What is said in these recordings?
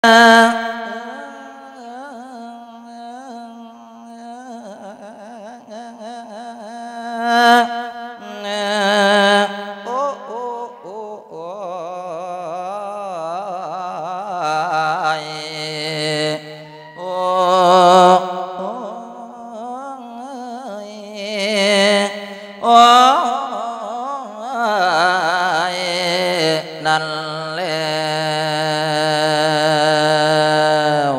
ໂອ້ ໂອ້ ໂອ້ ໂອ້ ໂອ້ ໂອ້ ໂອ້ຍ ນັ້ນແລ້ວ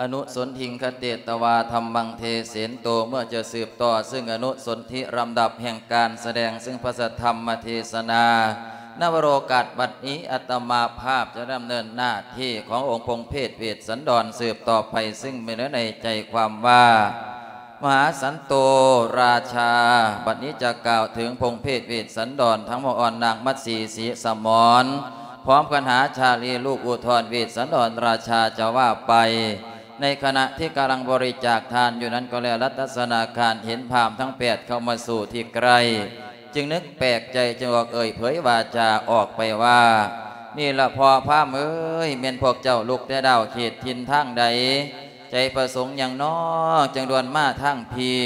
ອະນຸສົນທິງຄະເຕຕະວາ ທຳມັງເທເສນໂຕ ເມື່ອຈະສືບຕໍ່ ຊຶ່ງອະນຸສົນທິລຳດັບແຫ່ງການສະແດງ ຊຶ່ງພະສັດທຳມະເທສະນາ ນະວະໂລກາດບັດນີ້ ອາດຕະມາພາບຈະດຳເນີນໜ້າທີ່ຂອງອົງພົມເພດເວດສັນດອນສືບຕໍ່ໄປ ຊຶ່ງມີເນື້ອໃນໃຈຄວາມວ່າ ມະຫາສັນໂຕລາຊາ ບັດນີ້ຈະກ່າວເຖິງພົມເພດເວດສັນດອນ ທັງໝົດອ່ອນນາງມັດສີ ສີສະໝອນ ພ້ອມກັນຫາຊາລີລູກອຸທອນເວດສັນດອນລາຊາຈະວ່າໄປ ໃນຂະນະທີ່ກຳລັງບໍລິຈາກທານຢູ່ນັ້ນກໍແລ ລັດຕະສະນາຄານເຫັນພາມທັງແປດເຂົ້າມາສູ່ທີ່ໃກ້ ຈຶ່ງນຶກແປກໃຈ ຈຶ່ງອອກເອີ່ຍເຜີຍວາຈາອອກໄປວ່າ ນີ້ລະພໍ່ພາມເອີຍ ແມ່ນພວກເຈົ້າລຸກແຕ່ດາວເຂດຖິ່ນທາງໃດ? ໃຈປະສົງຫຍັງນໍ ຈຶ່ງດ່ວນມາທາງພີ້?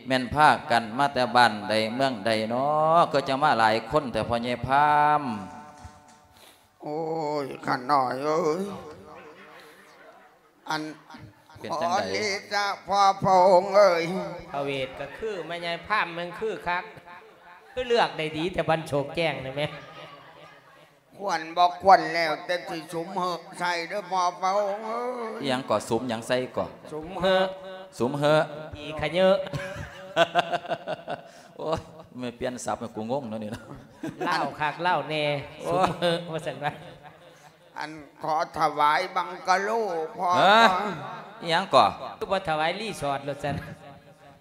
ແມ່ນພາກັນມາແຕ່ບ້ານໃດເມືອງໃດນໍ ຄືຈັ່ງມາຫຼາຍຄົນແທ້ພໍ່ໃຫຍ່ພາມ? ໂອ້ຍ ຂ້ານ້ອຍເອີຍ ອັນ ເປັນຈັ່ງໃດ? ຂໍເດຊະພໍ່ພະອົງເອີຍ ພະເວດກໍຄື ແມ່ໃຫຍ່ພາມແມ່ນຄືຄັກ ຄືເລືອກໄດ້ດີແຕ່ບັນໂສກແຈ້ງນີ້ແມະ ຄວນບໍ່ຄວນແລ້ວແຕ່ຊິສຸມເຫີໃສ່ເດີພໍ່ພະອົງເອີຍ. ອີ່ຫຍັງກໍ? ສຸມຫຍັງໃສ່ກໍ? ສຸມເຫີ ສຸມເຫີ ອີຂະເຍີ. ໂອ້ຍ ແມ່ນປ່ຽນສັບໃຫ້ກູງົງເນາະນີ້ເນາະ ລາວຄັກລາວແນ່ ໂອ້ຍ ສຸມເຫີວ່າຊັ້ນວ່າ. ອັນ ຂໍຖະຫວາຍບັງກະໂລພໍ່. ຮະ? ອີ່ຫຍັງກໍ? ຄືບໍ່ຖະຫວາຍຣີສອດໂລດຊັ້ນ?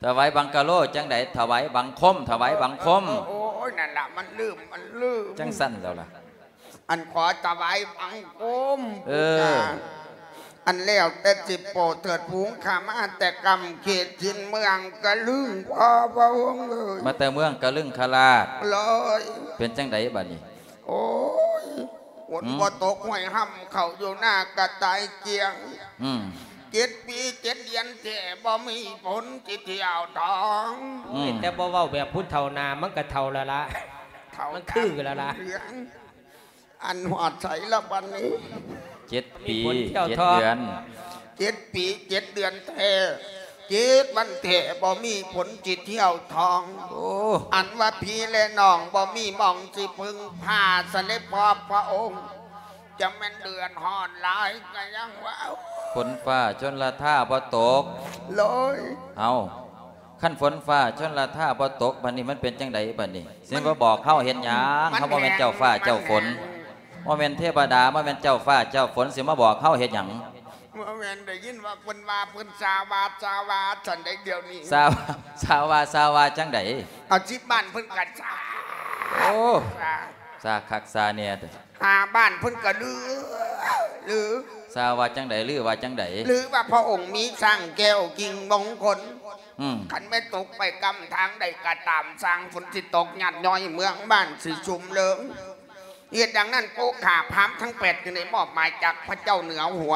ຖະຫວາຍບັງກະໂລຈັ່ງໃດ? ຖະຫວາຍບັງຄົມ ຖະຫວາຍບັງຄົມ. ໂອ້ຍ ນັ້ນລະ ມັນລືມ ມັນລືມ ຈັ່ງຊັ້ນແລ້ວລະ. ອັນ ຂໍຖະຫວາຍບັງຄົມ ເອີ ອັນ ແລ້ວແຕ່ຊິໂປດເທີດຜູງຂ້າມາແຕ່ກຳເຂດຖິ່ນເມືອງກະລຶງ ພໍ່ພະອົງເອີຍ ມາແຕ່ເມືອງກະລຶງຄະລາດ ເລີຍ ເປັນຈັ່ງໃດບັດນີ້? ໂອ້ຍ ຝົນ ອືມ ບໍ່ຕົກ ຫ້ວຍຮ່ຳເຂົ້າຢູ່ນາກະຕ່າຍກ້ຽງ ອືມ ເຈັດປີເຈັດເດືອນແທ້ ບໍ່ມີຝົນຊິຖ້ຽວທອງ. ອືມ ໂອ້ຍ ແຕ່ບໍ່ເວົ້າແບບຜູ້ເຖົ້າໜ້າ ມັນກະເຖົ້າແລ້ວລະ ເຖົ້າ ມັນຄືແລ້ວລະ ເຫຼືອງ. ອັນ ຮອດໃສລະບັດນີ້? ເຈັດປີ ມີຜົນເຈົ້າ ເຈັດເດືອນ ເຈັດປີເຈັດເດືອນແທ້ ເຈັດວັນແທ້ ບໍ່ມີຝົນຊິຖ້ຽວທອງ. ໂອ້ ອັນວ່າພີ່ແລະນ້ອງ ບໍ່ມີໝ່ອງຊິເພິ່ງພາ ຊັ້ນເດພໍ່ພະອົງ ຈະແມ່ນເດືອດຮ້ອນຫຼາຍກະຍັງວ່າ. ຝົນຟ້າຊົນລະທາບໍ່ຕົກ ໂລຍ ເອົ້າ ຄັນຝົນຟ້າຊົນລະທາບໍ່ຕົກ ບັດນີ້ມັນເປັນຈັ່ງໃດບັດນີ້? ຊິມາບອກເຮົາເຮັດຫຍັງ? ເຮົາບໍ່ແມ່ນເຈົ້າຟ້າເຈົ້າຝົນ ບໍ່ແມ່ນເທວະດາ ບໍ່ແມ່ນເຈົ້າຟ້າເຈົ້າຝົນ ຊິມາບອກເຮົາເຮັດຫຍັງ? ບໍ່ແມ່ນໄດ້ຍິນວ່າເພິ່ນວ່າ ເພິ່ນຊາວາຊາວາ ຊັ້ນໃດດຽວນີ້ ຊາວາຊາວາ ຊາວາຈັ່ງໃດ? ເອົາ ສິບບ້ານເພິ່ນກະຊາ ໂອ້ ຊາ ຊາຄັກຊາແນ່ແທ້. ຫ້າບ້ານເພິ່ນກະລື ລື ຊາວາຈັ່ງໃດ? ລືວ່າຈັ່ງໃດ? ລືວ່າພະອົງມີຊ້າງແກ້ວກິ່ງມົງຄົນ ອືມ ຄັນແມ່ນຕົກໄປກຳທາງໃດກະຕາມ ຊ້າງຝົນຊິຕົກຍາດຍ້ອຍ ເມືອງບ້ານຊິຊຸ່ມເລີງ. ເຫດດັ່ງນັ້ນ ໂອຄາພາມທັງແປດຈຶ່ງໄດ້ມອບໝາຍຈາກພະເຈົ້າເໜືອຫົວ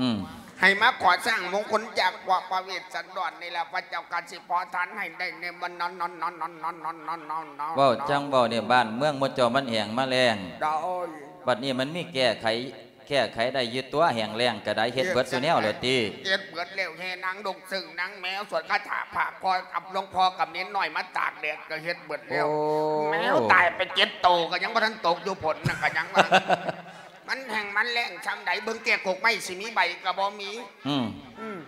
ອືມ ໃຫ້ມາຂໍຊ້າງມົງຄົນຈາກພວກພະເວດສັນດອນນີ້ລະ ພະເຈົ້າກະຊິຂໍທານໃຫ້ໄດ້ແນ່ ເວົ້າຈັ່ງເວົ້ານີ້ ບ້ານເມືອງໝູ່ເຈົ້າມັນແຫ້ງມາແລ້ງ ໂດຍ ບັດນີ້ມັນມີແກ້ໄຂ ແກ້ໄຂໄດ້ຢູ່ຕົວະ ແຫ້ງແລ້ງກະໄດ້ ເຮັດເບິດສູ່ແນວແລ້ວຕິ? ເຮັດເບິດແລ້ວ ແຫ່ນາງດົງເຊິ່ງນາງແມວ ສວດຄາຖາພາກ ຄອຍກັບຫຼວງພໍ່ກັບເນນນ້ອຍມາຕາກແດດກະເຮັດເບິດແລ້ວ. ໂອ້ ແມວຕາຍໄປເຈັດໂຕກະຍັງບໍ່ທັນຕົກຢູ່ ຝົນນະກະຍັງວ່າ ມັນແຫ້ງມັນແລ້ງຊ່ຳໃດ ເບິ່ງແກ້ກົກໄມ້ຊິມີໃບກະບໍ່ມີ. ອືມ ອືມ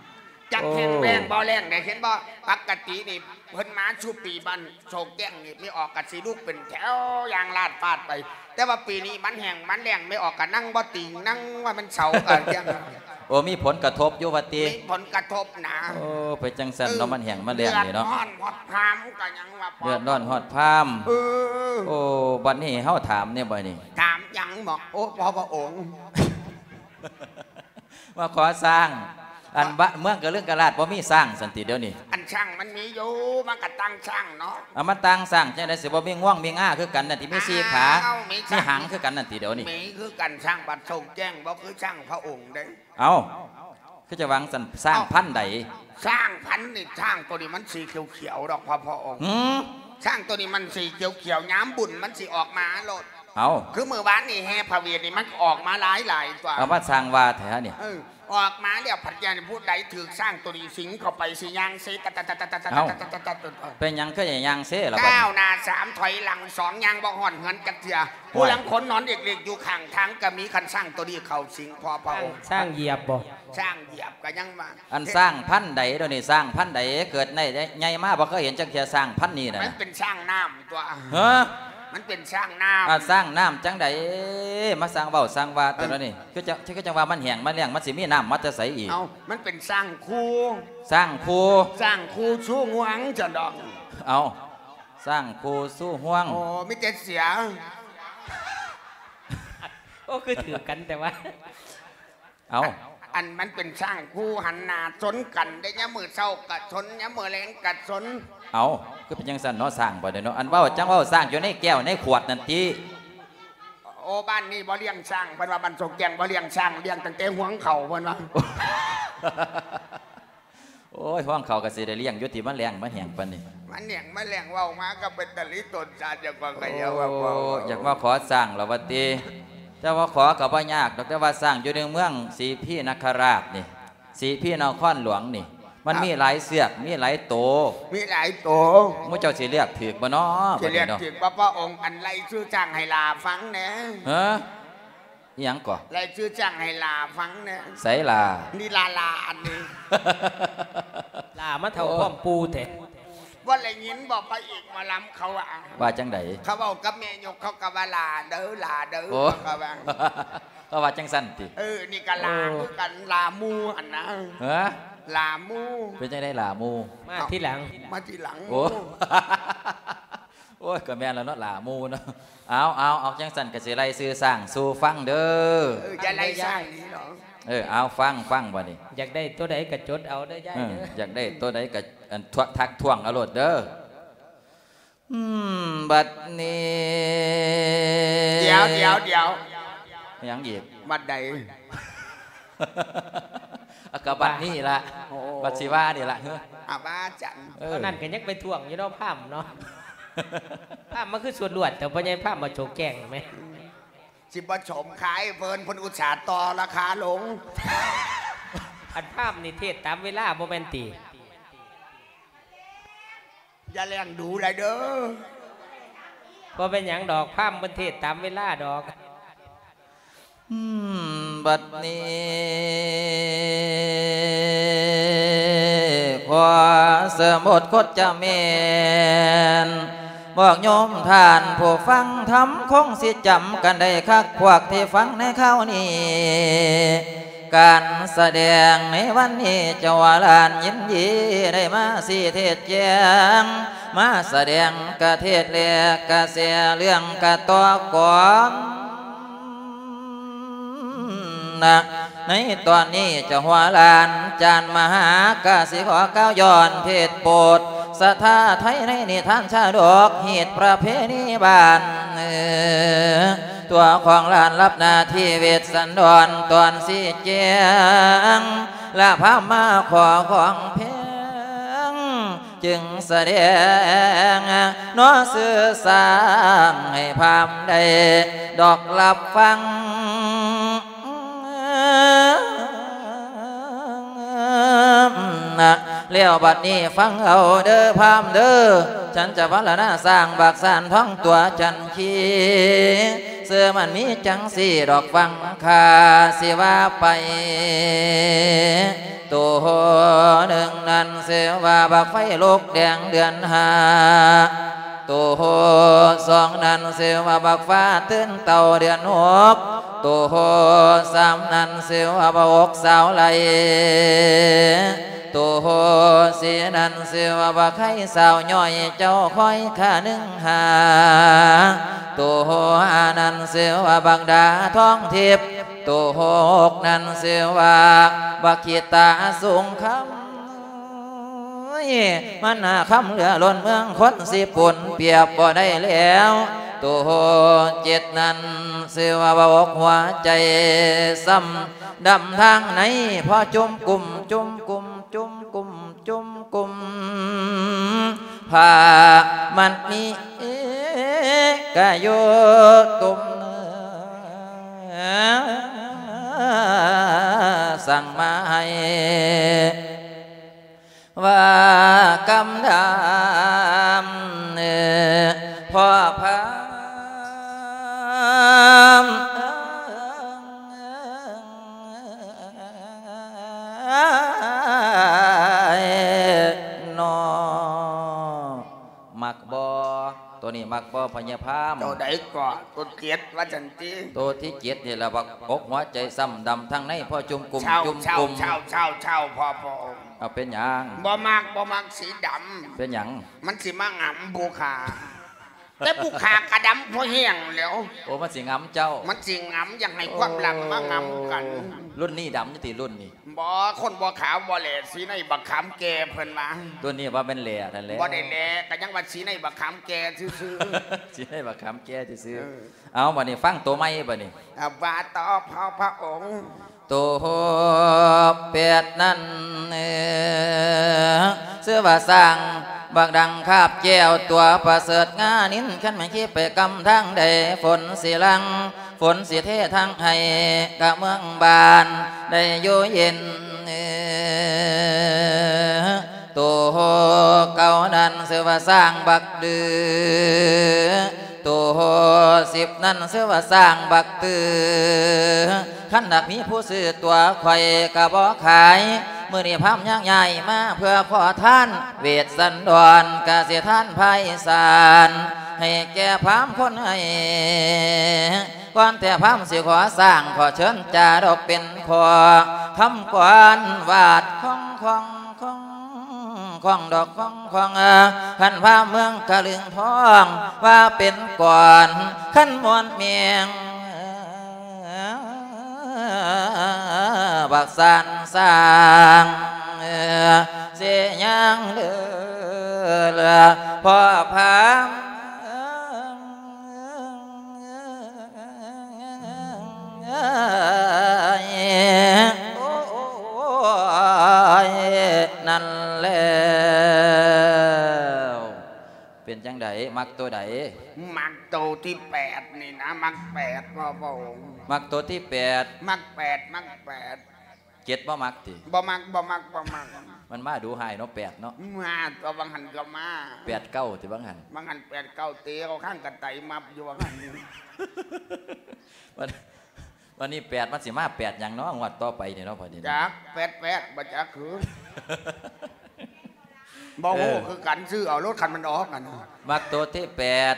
ຈັກແຫ້ງແລ້ງບໍ່ແລ້ງໄດ໋ ເຫັນບໍ່? ປົກກະຕິນີ້ເພິ່ນມາສູ່ປີບ້ານໂສກແຈ້ງນີ້ ແມ່ອອກກະຊິລຸກເປັນແຖວຢ່າງລາດຟາດໄປ ແຕ່ວ່າປີນີ້ມັນແຫ້ງມັນແລ້ງ ແມ່ອອກກະນັ່ງບໍ່ຕິງ ນັ່ງວ່າມັນເຊົາກະຈັ່ງ. ໂອ້ ມີຜົນກະທົບຢູ່ວ່າຕິ? ມີຜົນກະທົບນາ. ໂອ້ ໄປຈັ່ງຊັ້ນເນາະ ມັນແຫ້ງມັນແລ້ງນີ້ເນາະ ເດືອດຮ້ອນຮອດພາມກະຍັງວ່າ ເດືອດຮ້ອນຮອດພາມ. ເອີ ໂອ້ ບັດນີ້ເຮົາຖາມແນ່ບັດນີ້? ຖາມຫຍັງເບາະ? ໂອ້ ພໍ່ພະອົງ ມາຂໍຊ້າງ ອັນບ້ານເມືອງກະລຶງກະລາດບໍ່ມີຊ້າງຊັ້ນຕິດຽວນີ້? ອັນຊ້າງມັນມີຢູ່ ມັນກະຕ່າງຊ້າງເນາະ. ເອົາ ມັນຕ່າງຊ້າງຈັ່ງໃດ ຊິບໍ່ມີງວງມີງາຄືກັນນັ້ນຕິ ມີສີ່ຂາ ອ້າວ ມີຊ້າງ ມີຫາງຄືກັນນັ້ນຕິດຽວນີ້? ມີຄືກັນ ຊ້າງບ້ານໂຊງແຈ້ງ ບໍ່ຄືຊ້າງພະອົງເດ້. ເອົ້າ ຄືຈະວ່າຈັ່ງຊັ້ນ ຊ້າງ ເອົ້າ ພັນໃດ? ຊ້າງພັນນີ້ ຊ້າງໂຕນີ້ມັນສີຂຽວໆດອກ ພະ ພະອົງ. ຫື? ຊ້າງໂຕນີ້ມັນສີຂຽວໆ ຍາມບຸນມັນຊິອອກມາໂລດ. ເອົ້າ ຄືມື້ວານນີ້ແຫ່ພະເວດນີ້ ມັນກໍອອກມາຫຼາຍໆຕົວະ. ເອົາ ມາສ້າງວ່າແທ້ນີ້. ເອີ ອອກມາແລ້ວພັດຢ່າງຜູ້ໃດຖືກຊ້າງໂຕນີ້ສິງເຂົ້າໄປ ຊິຍ່າງເຊ ຕະຕະຕະຕະ ເອົ້າ ເປັນຫຍັງຄືໄດ້ຍ່າງເຊລະບັດນີ້? ກ້າວໜ້າສາມ ຖອຍຫຼັງສອງ ຍ່າງບໍ່ຮອດເຮືອນຈັກເທື່ອ. ໂອ້ຍ ຜູ້ລາງຄົນນອນເລັກໆຢູ່ຂ້າງທາງກໍມີ ຄັນຊ້າງໂຕນີ້ເຂົ້າສິງ ພໍ່ພະອົງ. ຊ້າງຢຽບບໍ່? ຊ້າງຢຽບກໍຍັງວ່າ ອັນຊ້າງພັນໃດດຽວນີ້? ຊ້າງພັນໃດ? ເກີດໃນໃຫຍ່ມາບໍ່ເຄີຍເຫັນຈັກເທື່ອ ຊ້າງພັນນີ້ນະ. ມັນເປັນຊ້າງນ້ຳຕົວະ. ເອີ ມັນເປັນຊ້າງນ້ຳ. ອາ ຊ້າງນ້ຳຈັ່ງໃດ? ມາສ້າງເວົ້າສ້າງວ່າແຕ່ລະນີ້ ເອີ ຄືຈະ ຄື ຄືຈັ່ງວ່າມັນແຫ້ງມັນແລ້ງ ມັນຊິມີນ້ຳມາແຕ່ໃສອີກ? ເອົ້າ ມັນເປັນຊ້າງຄູ່. ຊ້າງຄູ່? ຊ້າງຄູ່ຊູງວງຊັ້ນດອກ. ເອົ້າ ຊ້າງຄູ່ຊູງວງ. ໂອ້ ມີແຕ່ເສຍ. ໂອ້ ຄືຖືກກັນແຕ່ວ່າ ເອົ້າ ອັນມັນເປັນຊ້າງຄູ່ຫັນໜ້າຊົນກັນເດ້ ຍາມມື້ເຊົ້າກະຊົນ ຍາມມື້ແລງກະຊົນ. ເອົ້າ ຄືເປັນຈັ່ງຊັ້ນເນາະ ຊ້າງບັດນີ້ເນາະ. ອັນເວົ້າຈັ່ງເວົ້າຊ້າງຢູ່ໃນແກ້ວໃນຂວດນັ້ນຕິ. ໂອ້ ບ້ານນີ້ບໍ່ລ້ຽງຊ້າງ ເພິ່ນວ່າ ບ້ານໂຊງແຈ້ງບໍ່ລ້ຽງຊ້າງ ລ້ຽງຕັ້ງແຕ່ຫວງເຂົ້າ ເພິ່ນວ່າ. ໂອ້ຍ ຫວງເຂົ້າກໍຊິໄດ້ລ້ຽງຢູ່ຕິ ມັນແລ້ງມັນແຫ້ງປານນີ້. ມັນແຫ້ງມັນແລ້ງ ເວົ້າມາກໍເປັນຕາລີຕົນຊາດ ຢາກວ່າ ໂອ້ ຢາກວ່າ ຢາກມາຂໍສ້າງລະວ່າຕິ. ແຕ່ວ່າຂໍກໍບໍ່ຍາກດອກ ແຕ່ວ່າຊ້າງຢູ່ໃນເມືອງສີພີນະຄະລາດນີ້ ສີພີນະຄອນຫຼວງນີ້ ມັນມີຫຼາຍເຊືອກ ມີຫຼາຍໂຕ. ມີຫຼາຍໂຕ. ໝູ່ເຈົ້າຊິເລືອກຖືກບໍ່ເນາະ? ຊິເລືອກຖືກບໍ່ ພະອົງ? ອັນ ໄລ່ຊື່ຊ້າງໃຫ້ຫຼ້າຟັງແດ່. ຮະ? ອີ່ຫຍັງເກາະ? ໄລ່ຊື່ຊ້າງໃຫ້ຫຼ້າຟັງແດ່. ໃສຫຼ້າ? ນີ້ຫຼ້າໆ ອັນນີ້. ຫຼ້າມາເຖົ້າ ໂອ້ ພ້ອມປູ່ແທ້. ບໍ່ໄດ້ຍິນບໍ່ ພະເອກໝໍລຳເຂົາວ່າ? ວ່າຈັ່ງໃດ? ເຂົາເວົ້າກັບແມ່ຍົກ ເຂົາກໍວ່າ ຫຼ້າເດີ ຫຼ້າເດີ ໂອ້ ເຂົາກໍວ່າ. ເຂົາວ່າຈັ່ງຊັ້ນຕິ? ເອີ ນີ້ກໍຫຼ້າ ໂອ້ ຄືກັນ ຫຼ້າໝູ່ຫັ້ນນະ. ຮະ? ຫຼ້າໝູ່. ເປັນຈັ່ງໃດຫຼ້າໝູ່? ມາທີຫຼັງ. ເອົ້າ ມາທີຫຼັງ. ໂອ້ ໂອ້ຍ ກໍແມ່ນແລ້ວເນາະ ຫຼ້າໝູ່ເນາະ. ເອົາ ເອົາ ເອົາ ຈັ່ງຊັ້ນກໍຊິໄລ່ຊື່ຊ້າງສູ່ຟັງເດີ. ເອີ ຢ່າໄລ່ຊ້າງນີ້ເນາະ. ເອີ ເອົາ ຟັງ ຟັງບັດນີ້. ຢາກໄດ້ໂຕໃດກໍຈົດເອົາເດີຍາຍເດີ. ເອີ ຢາກໄດ້ໂຕໃດກໍ ອັນ ທວງ ທັກທ້ວງເອົາໂລດເດີ. ອືມ ບັດນີ້ ດຽວ ດຽວ ດຽວ ຫຍັງອີກ? ບັດໃດ? ອາ ກໍບັດນີ້ລະ. ໂອ້ ບັດຊິວ່ານີ້ລະ. ອາ ວ່າຈັ່ງ. ເອີ ອັນນັ້ນກໍຍັງໄປທ້ວງຢູ່ເນາະ ພາມເນາະ. ພາມມັນຄືສວດລວດ ແຕ່ພໍ່ໃຫຍ່ພາມມາໂຈແກງແມ່. ຊິບໍ່ສົມຂາຍເພິ່ນ ເພິ່ນອຸດສ່າຕໍ່ລາຄາລົງ. ອັນພາມນີ້ເທດຕາມເວລາບໍ່ແມ່ນຕິ? ຢ່າແລ້ງດູຫຼາຍເດີ. ບໍ່ເປັນຫຍັງດອກ ພາມເພິ່ນເທດຕາມເວລາດອກ. ອືມ ບັດນີ້ ຂໍສະໝົດກົດຈະແມ່ນ ພວກໂຍມທ່ານຜູ້ຟັງທຳ ຄົງຊິຈຳກັນໄດ້ຄັກ ພວກທີ່ຟັງໃນຄາວນີ້. ການສະແດງໃນວັນນີ້ ເຈົ້າວ່າຫຼານຍິນດີໄດ້ມາຊີ້ເທດແຈງ ມາສະແດງກະເທດແລກະແຊເລື່ອງກະຕໍ່ກອນນະ. ໃນຕອນນີ້ເຈົ້າຫົວຫຼານຈານມະຫາກະຊິຂໍກ່າວຍ້ອນເທດໂປດ ສະຖາໄທໃນນິທານຊາດົກ ຮີດປະເພນີບ້ານ ຕົວຂອງຫຼານຮັບໜ້າທີ່ເວດສັນດອນຕອນຊີ້ແຈງ ລະພາມມາຂໍຂອງແພງ ຈຶ່ງສະແດງເນາະຊື່ຊ້າງ ໃຫ້ພາມໄດ້ດອກຮັບຟັງ. ແລ້ວບັດນີ້ຟັງເອົາເດີພາມເດີ ສັນຈະພັນລະນາຊ້າງບັກຊານທອງຕົວຈັນຄີ ຊື່ມັນມີຈັ່ງຊີ້ດອກ ຟັງຂ້າຊິວ່າໄປ. ໂຕໜຶ່ງນັ້ນຊື່ວ່າບັກໄຟລຸກແດງເດືອນຫ້າ ໂຕສອງນັ້ນຊື່ວ່າບັກຟ້າຕື່ນເຕົ່າເດືອນຫົກ ໂຕສາມນັ້ນຊື່ວ່າບັກອົກສາວໄຫຼ ໂຕສີ່ນັ້ນຊື່ວ່າບັກໄຄສາວຍ່ອຍ ເຈົ້າຄອຍຂ້າໜຶ່ງຫາ ໂຕຫ້ານັ້ນຊື່ວ່າບັກດາທອງທິບ ໂຕຫົກນັ້ນຊື່ວ່າ ບັກຂີ້ຕາສູງຄຳ ມັນໜ້າຄຳເຫຼືອລົ້ນເມືອງຄົນຊິປົນປຽບບໍ່ໄດ້ແລ້ວ. ໂຕເຈັດນັ້ນຊື່ວ່າ ຫົວໃຈຊ້ຳດຳທາງໃນ ພໍຈຸ່ມກຸ້ມ ຈຸ່ມກຸ້ມ ຈຸ່ມກຸ້ມ ຈຸ່ມກຸ້ມ ຜ້າມັດໝີກະຢູ່ຕຸ່ມ ສັ່ງມາໃຫ້ວ່າກຳດຳ ພໍ່ພາມ ເນາະ ມັກບໍ່? ໂຕນີ້ມັກບໍ່ ພໍ່ໃຫຍ່ພາມ? ໂຕໃດເກາະ? ໂຕເຈັດວ່າຊັ້ນຕິ? ໂຕທີເຈັດນີ້ລະ ບັກອົກຫົວໃຈຊ້ຳດຳທາງໃນ ພໍຈຸ່ມກຸ້ມ ຈຸ່ມກຸ້ມ ເຊົາ ເຊົາ ເຊົາ ເຊົາ ພໍ່ພະອົງ ເອົາ ເປັນຫຍັງ? ບໍ່ມັກ ບໍ່ມັກສີດຳ. ເປັນຫຍັງ? ມັນຊິມາຫງຳຜູ້ຂ້າ. ແຕ່ຜູ້ຂ້າກະດຳພໍແຮງແລ້ວ. ໂອ້ ມັນຊິຫງຳເຈົ້າ. ມັນຊິຫງຳ ຢາກໃຫ້ຄວາມຫຼັງມາຫງຳກັນ. ໂອ້ ລຸ້ນນີ້ດຳຢູ່ຕິ ລຸ້ນນີ້? ບໍ່ ຄົນບໍ່ຂາວບໍ່ແຫຼ ສີໃນບັກຂາມແກ່ເພິ່ນວ່າ. ໂຕນີ້ວ່າແມ່ນແຫຼນັ້ນແຫຼະ. ບໍ່ໄດ້ແຫຼ ກະຍັງວ່າສີໃນບັກຂາມແກ່ຊື່ໆ. ສີໃນບັກຂາມແກ່ຊື່ໆ. ເອີ ເອົາ ບາດນີ້ຟັງໂຕໃໝ່ບາດນີ້. ອາ ວ່າຕໍ່ພໍ່ພະອົງ. ໂຕແປດນັ້ນ ເອີ ຊື່ວ່າຊ້າງບັກດັງຄາບແກ້ວ ຕົວປະເສີດງານິນ ຄັນແມ່ນຂີ່ໄປກຳທາງໃດ ຝົນຊິຫຼັ່ງ ຝົນຊິເທທັງໃຫ້ ກະເມືອງບ້ານໄດ້ຢູ່ເຢັນ. ໂຕເກົ້ານັ້ນຊື່ວ່າຊ້າງບັກດື ໂຕສິບນັ້ນຊື່ວ່າຊ້າງບັກຕື້ ຄັນຫາກມີຜູ້ຊື້ຕົວຂ້ອຍກະບໍ່ຂາຍ ມື້ນີ້ພາມຍັງຍ້າຍມາເພື່ອຂໍທານ ເວດສັນດອນກະຊິທານພາຍສານ ໃຫ້ແກ່ພາມຄົນໃຫ້ ກ່ອນແຕ່ພາມຊິຂໍສ້າງ ຂໍເຊີນຈາດອກເປັນຂໍ້ຄຳກວນ ວາດຂອງຂອງຂອງຂອງດອກຂອງຂອງ ຄັນພາມເມືອງກະລຶງທອງ ວ່າເປັນກ່ອນ ຄັນມ່ວນແມງ ບັກສັນສ້າງ ຊິຍ່າງເດີ ພໍ່ພາມ ໂອ້ຍ ນັ້ນແລ້ວ ເປັນຈັ່ງໃດ? ມັກໂຕໃດ? ມັກໂຕທີແປດນີ້ນະ ມັກແປດ ພໍ່ພະອົງ. ມັກໂຕທີແປດ? ມັກແປດ ມັກແປດ. ເຈັດບໍ່ມັກຕິ? ບໍ່ມັກ ບໍ່ມັກ ບໍ່ມັກ. ມັນມາດຸຮ້າຍເນາະ ແປດເນາະ. ມາຕົວະ ວ່າງຫັ້ນກະມາ. ແປດເກົ້າຕິ ວ່າງຫັ້ນ? ວ່າງຫັ້ນແປດເກົ້າ ເຕະເອົາຂ້າງກະໄຕມັບຢູ່ວ່າງຫັ້ນ. ບັດ ບັດນີ້ແປດມັນຊິມາແປດຫຍັງເນາະ ງວດຕໍ່ໄປນີ້ເນາະ ບັດນີ້ເນາະ. ຈັກ ແປດແປດ ບໍ່ຈັກຄື. ບໍ່ຮູ້ ເອີ ຄືກັນ ຊື້ເອົາໂລດຄັນມັນອອກຫັ້ນ. ມັກໂຕທີແປດ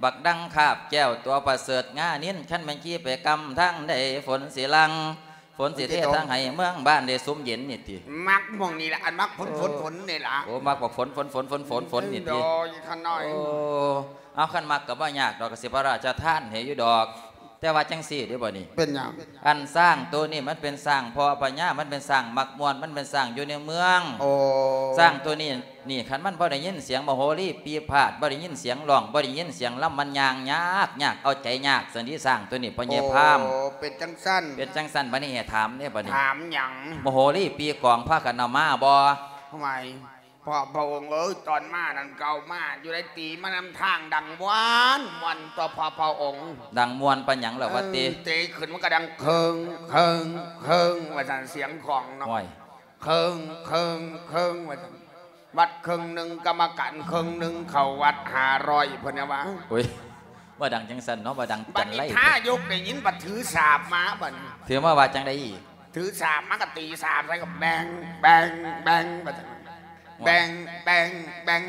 ບັກດັງຄາບແກ້ວ ຕົວປະເສີດງານິນ ຄັນແມ່ນຂີ່ໄປກຳທາງໃດ ຝົນຊິຫຼັ່ງ ຝົນຊິເທ ຝົນຊິຕົກ ທາງໃຫ້ເມືອງບ້ານໄດ້ຊຸ່ມເຢັນນີ້ຕິ? ມັກໝ່ອງນີ້ລະ ອັນມັກຝົນ ໂອ້ ຝົນ ຝົນນີ້ລະ. ໂອ້ ມັກບັກຝົນ ຝົນ ຝົນ ຝົນ ຝົນ ຝົນນີ້ຕິ? ໂດຍ ຂ້ານ້ອຍ. ໂອ້ ເອົາ ຄັນມັກກະບໍ່ຍາກດອກ ກະຊິພະລາຊະທານໃຫ້ຢູ່ດອກ. ແຕ່ວ່າຈັ່ງຊີ້ເດ້ ບັດນີ້ ເປັນຫຍັງ? ອັນຊ້າງໂຕນີ້ມັນເປັນຊ້າງພໍ່ພະຍາ ມັນເປັນຊ້າງມັກມ່ວນ ມັນເປັນຊ້າງຢູ່ໃນເມືອງ. ໂອ້ ຊ້າງໂຕນີ້ ນີ້ ຄັນມັນບໍ່ໄດ້ຍິນສຽງມະໂຫຣີປີພາດ ບໍ່ໄດ້ຍິນສຽງຮ້ອງ ບໍ່ໄດ້ຍິນສຽງລຳ ມັນຍ່າງຍາກ ຍາກ ເອົາໃຈຍາກ ຊັ້ນຕິ ຊ້າງໂຕນີ້ ພໍ່ໃຫຍ່ພາມ. ໂອ້ ເປັນຈັ່ງຊັ້ນ. ເປັນຈັ່ງຊັ້ນ. ບັດນີ້ໃຫ້ຖາມເດ້ ບັດນີ້ ຖາມຫຍັງ? ມະໂຫຣີປີກອງພາກັນເອົາມາບໍ່? ທຳໄມ? ພໍ່ພະອົງເອີຍ ຕອນມານັ້ນກະເອົາມາຢູ່ໃດ໋ ຕີມານຳທາງດັງມ່ວນ ມ່ວນຕົວະ ພໍ່ພະອົງ. ດັງມ່ວນປານຫຍັງລະວະຕິ? ເອີ ເຕະຂຶ້ນມັນກະດັງເຄິງ ເຄິງ ເຄິງ ວ່າຊັ້ນ ສຽງຂອງເນາະ. ໂອ້ຍ ເຄິງ ເຄິງ ເຄິງ ວ່າຊັ້ນ. ວັດເຄິ່ງໜຶ່ງ ກຳມະການເຄິ່ງໜຶ່ງ ເຂົ້າວັດຫ້າຮ້ອຍ ເພິ່ນວ່າ. ໂອ້ຍ ວ່າດັງຈັ່ງຊັ້ນເນາະ ວ່າດັງຈັນໄລ. ບັດນີ້ພະຍົກໄດ້ຍິນ ບັດຖືສາບມາບັດນີ້. ຖືມາວ່າຈັ່ງໃດອີກ? ຖືສາບມາກະຕີສາບໃສ່ ກະແບງ ແບງ ແບງ ວ່າຊັ້ນ. ໂອ້ຍ ແບງ ແບງ ແບງ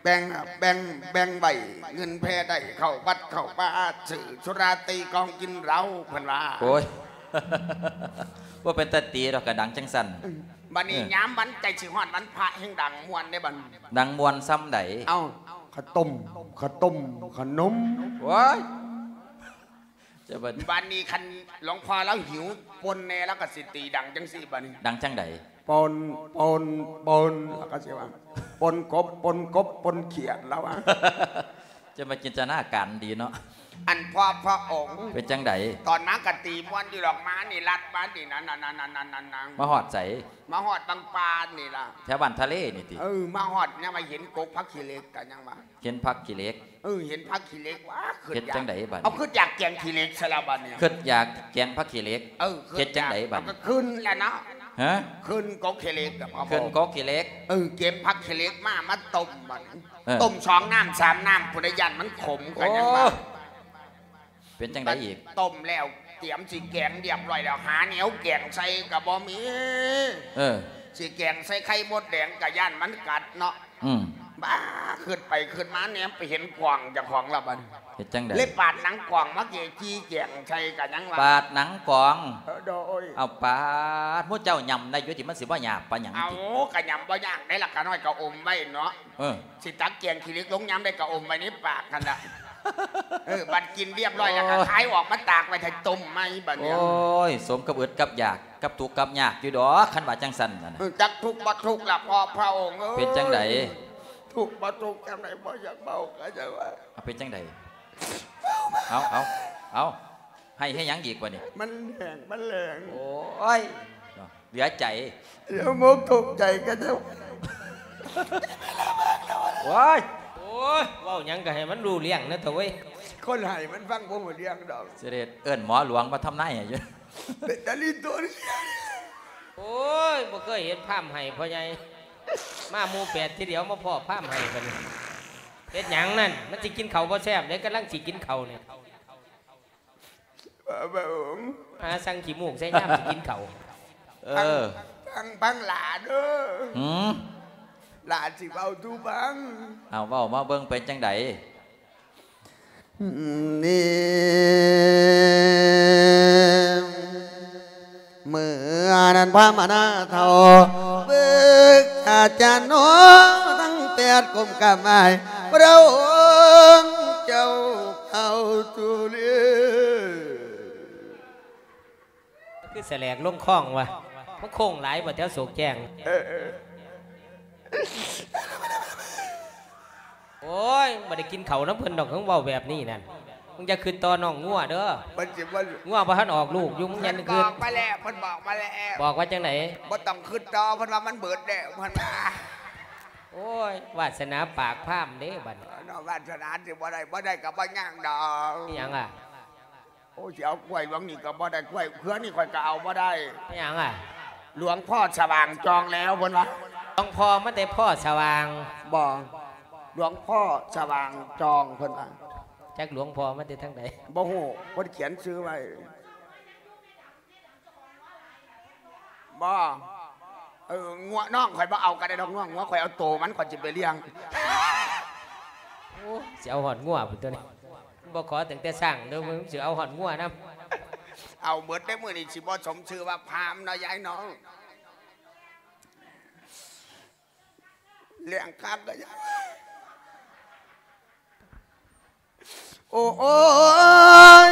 ແບ່ງ ແບ່ງ ແບ່ງໄວ້ ເງິນແຜ່ໄດ້ເຂົ້າວັດເຂົ້າວາ ຊື້ສຸລາຕີກອງກິນເຫຼົ້າ ເພິ່ນວ່າ. ໂອ້ຍ ບໍ່ເປັນຕາຕີດອກ ກະດັງຈັ່ງຊັ້ນ. ອືມ ບັດນີ້ ເອີ ຍາມວັນໃກ້ຊິຮອດວັນພະແຮ່ງດັງມ່ວນເດ້ບັດນີ້. ດັງມ່ວນຊ່ຳໃດ? ເອົ້າ ຂະຕົ້ມ ຂະຕົ້ມ ຂະໜົມ. ໂອ້ຍ ເຈົ້າບັດ ບັດນີ້ຄັນຫຼວງພໍ່ລາວຫິວປົ່ນແດ່ ລາວກໍຊິຕີດັງຈັ່ງຊີ້ບັດນີ້ ດັງຈັ່ງໃດ? ປົ່ນ ປົ່ນ ປົ່ນ ລາວກໍຊິວ່າ ປົ່ນກົບ ປົ່ນກົບ ປົ່ນຂຽດ ລາວວ່າ. ຈະມາຈິນຕະນາການດີເນາະ ອັນພໍ່ພະອົງ ເປັນຈັ່ງໃດ? ຕອນມາກໍຕີມ່ວນຢູ່ດອກ ມານີ້ລັດມານີ້ ນັ້ນໆໆໆໆ ມາຮອດໃສ? ມາຮອດບາງປານນີ້ລະ ແຖວບ້ານທະເລນີ້ຕິ? ເອີ ມາຮອດຍັງວ່າເຫັນກົກຜັກຂີ້ເຫຼັກ ກໍຍັງວ່າ ເຫັນຜັກຂີ້ເຫຼັກ. ເອີ ເຫັນຜັກຂີ້ເຫຼັກ ວ້າ ເຮັດຈັ່ງໃດບັດນີ້? ເອົາ ຄຶດຢາກແກງຂີ້ເຫຼັກຊະລະບັດນີ້ ຄຶດຢາກແກງຜັກຂີ້ເຫຼັກ. ເອີ ເຮັດຈັ່ງໃດບັດນີ້? ກໍຂຶ້ນລະເນາະ ຮະ? ຂຶ້ນກົກຂີ້ເຫຼັກ ຂຶ້ນກົກຂີ້ເຫຼັກ. ເອີ ເກັບຜັກຂີ້ເຫຼັກມາ ມາຕົ້ມບັດນີ້ ເອີ ຕົ້ມສອງນ້ຳສາມນ້ຳພຸ້ນ ຢ້ານມັນຂົມ ກໍຍັງວ່າ. ໂອ້ ເປັນຈັ່ງໃດອີກ? ຕົ້ມແລ້ວ ຕຽມຊິແກງຮຽບຮ້ອຍແລ້ວ ຫາແນວແກງໃສ່ກໍບໍ່ມີ. ເອີ ຊິແກງໃສ່ໄຂ່ມົດແດງກໍຢ້ານມັນກັດເນາະ. ອືມ ບ້າ ຄຶດໄປຄຶດມາ ແນມໄປເຫັນກວາງເຈົ້າຂອງລະບັດນີ້ ເຮັດຈັ່ງໃດ? ເລີຍປາດໜັງກວາງມາເກຈີແກງໃສ່ກໍຍັງວ່າ ປາດໜັງກວາງ. ເອີ ໂດຍ. ເອົາປາດ ໝູ່ເຈົ້າຫຍ້ຳໄດ້ຢູ່ຕິ ມັນຊິບໍ່ຍາກປານຫຍັງຕິ? ເອົາ ກໍຫຍ້ຳບໍ່ຍາກໄດ໋ລະ ຂະນ້ອຍກໍອົມໄວ້ເນາະ. ເອີ ຊິຕັກແກງຂີ້ເຫຼັກລົງຍາມໃດກໍອົມໄວ້ໃນປາກຫັ້ນລະ. ເອີ ບັດກິນຮຽບຮ້ອຍແລ້ວກໍ ໂອ້ຍ ຄາຍອອກມາຕາກໄວ້ຖ້າຕົ້ມໃໝ່ບັດນີ້. ໂອ້ຍ ສົມກັບອຶດກັບຢາກ ກັບທຸກກັບຍາກຢູ່ດອກ ຄັນວ່າຈັ່ງຊັ້ນນະ. ເອີ ຈັກທຸກບໍ່ທຸກລະພໍ່ພະອົງເອີຍ. ເປັນຈັ່ງໃດ? ທຸກບໍ່ທຸກຈັ່ງໃດ ບໍ່ຢາກເວົ້າກໍຢ່າວ່າ. ເອົາ ເປັນຈັ່ງໃດ? ເອົາ ເອົາ ເອົາ ໃຫ້ເຮັດຫຍັງອີກບັດນີ້? ມັນແຫ້ງ ມັນແຫຼງ. ໂອ້ຍ ເນາະ ເຫຼືອໃຈ ຢ່າມົກທຸກໃຈກັນເຈົ້າ. ໂອ້ຍ ໂອ້ຍ ເວົ້າຫຍັງກໍໃຫ້ມັນຮູ້ເລື່ອງແດ່ເຖາະເວີຍ. ຄົນໃຫ້ມັນຟັງບໍ່ຮູ້ເລື່ອງດອກ. ຊິໄດ້ເອີ້ນໝໍຫຼວງມາທຳນາຍໃຫ້ຢູ່. ເປັນຕາລີໂຕນ. ໂອ້ຍ ບໍ່ເຄີຍເຫັນພາມໃຫ້ພໍ່ໃຫຍ່ ມາໝູ່ແປດທີດຽວ ມາພໍ້ພາມໃຫ້ບັດນີ້. ເຮັດຫຍັງນັ້ນ? ມັນຊິກິນເຂົ້າບໍ່ແຊບເດ້ ກຳລັງຊິກິນເຂົ້ານີ້. ພະອົງ ຫາສັ່ງຂີ້ມູກໃສ່ຍາມຊິກິນເຂົ້າ. ເອີ ຟັງ ຟັງ ຟັງຫຼ້າເດີ. ຫືມ? ຫຼ້າຊິເວົ້າສູ່ຟັງ. ເອົາ ເວົ້າມາເບິ່ງເປັນຈັ່ງໃດ? ນີ້ ເມື່ອນັ້ນພາມະນາເຖົ້າ ປຶກສາຈານໜໍ ທັງແປດກົ້ມກາບໄຫວ້ພະອົງເຈົ້າເຂົ້າສູ່ລີ. ຄືສະແຫຼກລົງຄອງວະ ມັນໂຄ້ງຫຼາຍບໍ່ແຖວໂສກແຈ້ງ. ເອີ ເອີ. ໂອ້ຍ ບໍ່ໄດ້ກິນເຂົ້ານຳເພິ່ນດອກ ເພິ່ນເວົ້າແບບນີ້ນັ້ນ. ມຶງຢ່າຄຶດຕໍ່ນ້ອງງົວເດີ. ເພິ່ນຊິບໍ່ ງົວບໍ່ທັນອອກລູກຢູ່ ມຶງຢ່າຄຶດ. ເພິ່ນບອກມາແລ້ວ ເພິ່ນບອກມາແລ້ວ. ບອກວ່າຈັ່ງໃດ? ບໍ່ຕ້ອງຄຶດຕໍ່ ເພິ່ນວ່າມັນເບິດແລ້ວ ເພິ່ນວ່າ. ໂອ້ຍ ວາດສະໜາປາກພາມເດ້ບັດນີ້. ເນາະ ວາດສະໜາຊິບໍ່ໄດ້ ບໍ່ໄດ້ກໍບໍ່ຍາກດອກ. ອີຫຍັງລະ? ໂອ້ ຊິເອົາກ້ວຍຫຼວງນີ້ກໍບໍ່ໄດ້ ກ້ວຍເຄືອນີ້ຂ້ອຍກໍເອົາບໍ່ໄດ້. ເປັນຫຍັງລະ? ຫຼວງພໍ່ສະຫວ່າງຈອງແລ້ວ ເພິ່ນວ່າ. ຫຼວງພໍ່ມັນໄດ້ພໍ່ສະຫວ່າງ? ບໍ່ ຫຼວງພໍ່ສະຫວ່າງຈອງ ເພິ່ນວ່າ. ຈັກຫຼວງພໍ່ມາແຕ່ທາງໃດ? ບໍ່ຮູ້ ເພິ່ນຂຽນຊື່ໄວ້. ບໍ່ ເອີ ງົວນ້ອງຂ້ອຍບໍ່ເອົາກໍໄດ້ດອກ ງົວ ງົວຂ້ອຍເອົາໂຕມັນ ຂ້ອຍຊິໄປລ້ຽງ. ໂອ້ ຊິເອົາຮອດງົວພຸ້ນຕົວນີ້. ບໍ່ຂໍຕັ້ງແຕ່ຊ້າງເດີ ມຶງຊິເອົາຮອດງົວນຳ. ເອົາເບິດເດ້ ມື້ນີ້ຊິບໍ່ສົມຊື່ວ່າພາມເນາະ ຍາຍເນາະ. ລ້ຽງຄັກກໍຢ່າ ໂອ້ຍ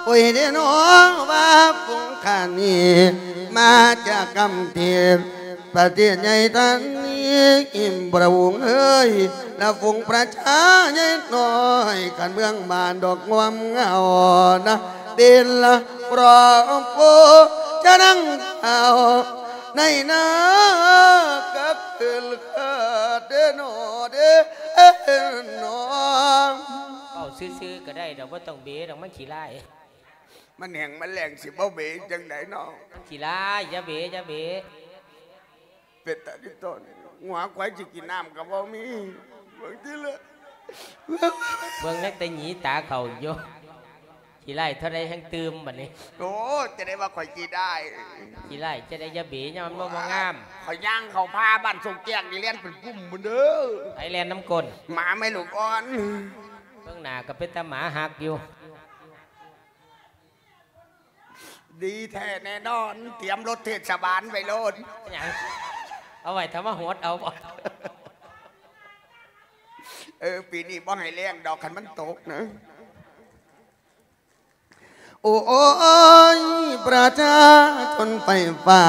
ໂອ້ຍເດ້ເນາະ ວ່າຝູງຂ້ານີ້ ມາຈາກກຳເທດ ປະເທດໃຫຍ່ທ່ານນີ້ ພະອົງເອີຍ ລະຝູງປະຊາໃຫຍ່ນ້ອຍ ຄັນເມືອງບ້ານດອກງວມເຫງົານະ ເປັນລະ ພະໂພ ຈະນັ່ງເອົາ ໃນນາກັບຄືນເດີເນາະເດີເນາະ. ເວົ້າຊື່ໆກໍໄດ້ດອກ ບໍ່ຕ້ອງເບດອກ ມັນຂີ້ລ້າຍ. ມັນແຫ້ງມັນແລ້ງຊິບໍ່ເບຈັ່ງໃດເນາະ. ມັນຂີ້ລ້າຍ ຢ່າເບ ຢ່າເບ. ເປັນຕາລິຕົນ ງົວຄວາຍຊິກິນນ້ຳກໍບໍ່ມີ. ເບິ່ງຕິລະ ເບິ່ງນັກແຕ່ໜີຕາເຂົ້າຢູ່. ຂີ້ລ້າຍເທົ່າໃດແຮ່ງຕື່ມບັດນີ້. ໂອ້ ຈະໄດ້ວ່າຂ້ອຍຂີ້ລ້າຍ ຂີ້ລ້າຍຈະໄດ້ ຢ່າເບ ຍາມມັນບໍ່ ບໍ່ງາມ. ຂ້ອຍຍ່າງເຂົ້າປ່າບ້ານຊົງແຈ້ງນີ້ ແລ່ນເປັນກຸ່ມພຸ້ນເດີ. ໃຜແລ່ນນຳກົ້ນ? ໝາແມ່ລູກອ່ອນ. ເບິ່ງໜ້າກໍເປັນຕາໝາຮັກຢູ່. ດີແທ້ແນ່ນອນ ຕຽມລົດເທດສະບານໄວ້ໂລດ. ຫຍັງ? ເອົາໄວ້ຖ້າມາຫົດເອົາບໍ? ເອີ ປີນີ້ບໍ່ໃຫ້ແລ້ງດອກ ຄັນມັນຕົກນະ. ໂອ້ຍ ປະຊາຊົນໄຟຟ້າ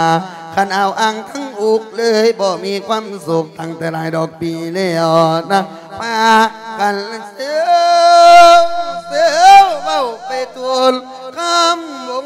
ຄັນເອົາອ່າງທັງອຸກເລີຍ ບໍ່ມີຄວາມສຸກຕັ້ງແຕ່ຫຼາຍດອກປີແລ້ວນະ ພາກັນເຊວເຊວເວົ້າໄປທົ່ວ ຄຳວົງ